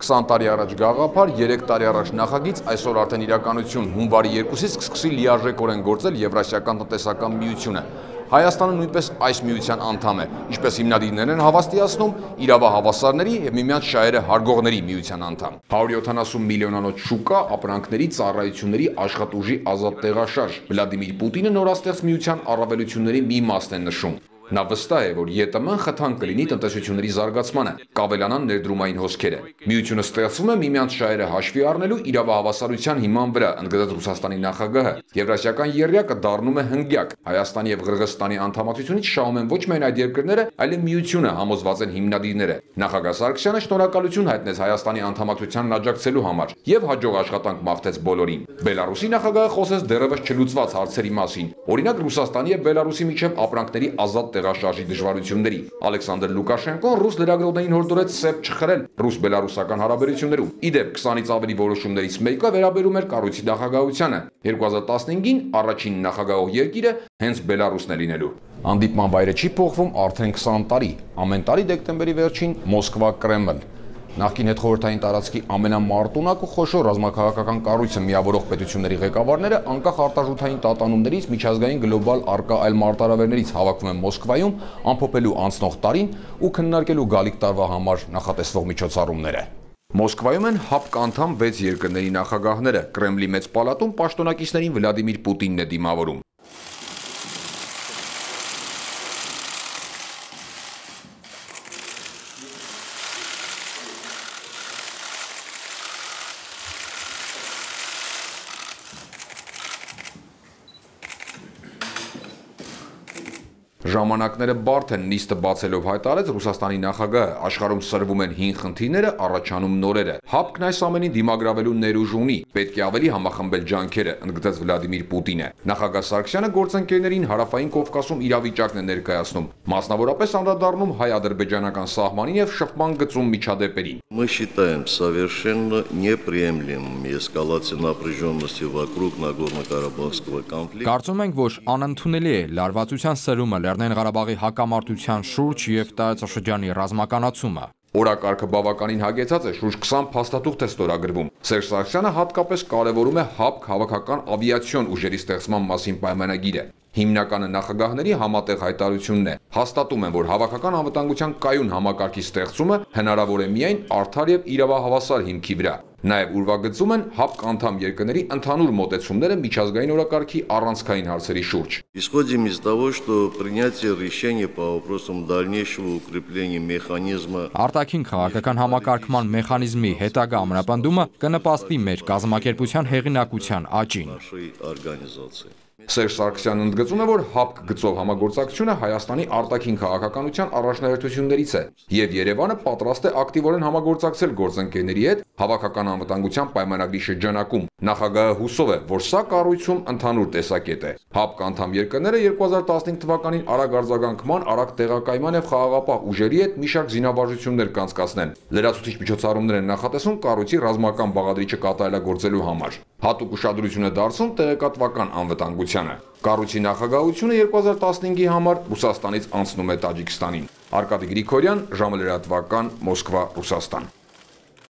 20 տարի առաջ գաղափար, 3 տարի առաջ նախագիծ, այսօր արդեն իրականություն հունվարի 2-ից կսկսի լիարժեքորեն գործել Եվրասիական տնտեսական միությունը։ Հայաստանը նույնպես այս միության անդամ է, ինչպես հիմնադիրներն են հավաստիացնում, իրավահավասարների և միմյանց շահերը հարգողների միության անդամ։ 170 միլիոնանոց շուկա, ապրանքների, ծառայությունների, աշխատուժի ազատ տեղաշարժ։ Վլադիմիր Պուտինը նորաստեղծ միության առավելությունների մի մասն է նշում։ Նա վստահ է, որ ԵՏՄ-ն խթան կլինի տնտեսությունների զարգացմանը, կավելանան ներդրումային հոսքերը։ Միությունը ստեղծվում է միմյանց շահերը հաշվի առնելու իրավահավասարության հիման վրա, ընդգծեց Ռուսաստանի նախագահը։ Եվրասիական եռյակը դառնում է հնգյակ։ Հայաստանի և Ղրղըզստանի անդամակցությունից շահում են ոչ միայն այդ երկրները, այլև միությունը, համոզված են հիմնադիրները։ Նախագահ Սարգսյանը շնորհակալություն հայտնեց Հայաստանի անդամակցությանն աջակցելու համար և հաջող աշխատանք մաղթեց բոլորին։ Բելարուսի նախագահը խոսեց դեռևս չլուծված հարցերի մասին, օրինակ Ռուսաստանի և Բելարուսի միջև ապրանքների ազատ տեղաշարժի դժվարությունների։ Ալեքսանդր Լուկաշենկոն ռուս լրագրողներին հորդորեց սեպ չխրել ռուս-բելարուսական հարաբերություններում։ Իդեպ 20-ից ավելի որոշումներից մեկը վերաբերում էր կառույցի նախագահությանը։ 2015-ին առաջին նախագահող երկիրը հենց Բելարուսն է լինելու։ Հանդիպման վայրը չի փոխվում արդեն 20 տարի։ Ամեն տարի դեկտեմբերի վերջին Մոսկվա-Կրեմլ։ Նախկին հետխորհրդային տարածքի ամենամարտունակ ու խոշոր ռազմաքաղաքական կառույցը միավորող պետությունների ղեկավարները անկախ արտարժութային տատանումներից միջազգային գլոբալ առկա այլ մարտահրավերներից հավաքվում են Մոսկվայում ամփոփելու անցնող տարին ու քննարկելու գալիք տարվա համար նախատեսվող միջոցառումները։ Մոսկվայում են ՀԱՊԿ անդամ 6 երկրների նախագահները։ Կրեմլի մեծ պալատում պաշտոնակիցներին Վլադիմիր Պուտինն է դիմավորում։ Ժամանակները բարդ են, նիստը բացելով հայտարարեց Ռուսաստանի նախագահը, աշխարհում սրվում են հին խնդիրները, առաջանում նորերը։ ՀԱՊԿ-ն այս ամենին դիմագրավելու ներուժ ունի, պետք է ավելի համախմբել ջանքերը, ընդգծեց Վլադիմիր Պուտինը։ Նախագահ Սարգսյանը գործընկերներին Հարավային Կովկասում իրավիճակն է ներկայացնում, մասնավորապես անդրադառնում հայ-ադրբեջանական սահմանին եւ շփման գծում միջադեպերին։ Мы считаем совершенно неприемлемым эскалацию напряженности вокруг Нагорно-Карабахского конфликта. Կարծում ենք, որ անընդունելի է լարվածության սրումը Լեռնային Ղարաբաղի հակամարտության շուրջ եւ տարածաշրջանի ռազմականացումը։ Օրակարգը բավականին հագեցած է, շուրջ 20 փաստաթուղթ է ստորագրվում։ Սերժ Սարգսյանը հատկապես կարևորում է ՀԱՊԿ հավաքական ավիացիոն ուժերի ստեղծման մասին պայմանագիրը։ Հիմնականը նախագահների համատեղ հայտարարությունն է։ Հաստատում են, որ հավաքական անվտանգության կայուն համակարգի ստեղծումը հնարավոր է միայն արդար եւ իրավահավասար հիմքի վրա։ Նաև ուրվագծում են ՀԱՊԿ անդամ երկրների ընդհանուր մոտեցումները միջազգային օրակարգի առանցքային հարցերի շուրջ։ Исходим из того, что принятие решения по вопросам дальнейшего укрепления механизма Արտաքին քաղաքական համակարգման մեխանիզմի հետագա ամրապնդումը կնպաստի մեր կազմակերպության հեղինակության աճին։ Սերժ Սարգսյանն ընդգծում է, որ ՀԱՊԿ գծով համագործակցությունը Հայաստանի արտաքին քաղաքականության առաջնահերթություններից է, եւ Երևանը պատրաստ է ակտիվորեն համագործակցել գործընկերների հետ հավաքական անվտանգության պայմանագրի շրջանակում։ Նախագահը հուսով է, որ սա կառույցում ընդհանուր տեսակետ է։ ՀԱՊԿ անդամ երկրները 2015 թվականին արագ արձագանքման, արագ տեղակայման եւ խաղաղապահ ուժերի հետ մի շարք զինավարժություններ կանցկացնեն։ Լրացուցիչ միջոցառումներ են նախատեսվում կառույցի ռազմական բաղադրիչը կատարելագործելու համար։ Հատուկ ուշադրություն է դարձնում տեղեկատվական անվտանգությանը։ Կառույցի նախագահությունը 2015-ի համար Ռուսաստանից անցնում է Տաջիկստանին։ Արկադի Գրիգորյան, ժամը լրատվական, Մոսկվա, Ռուսաստան։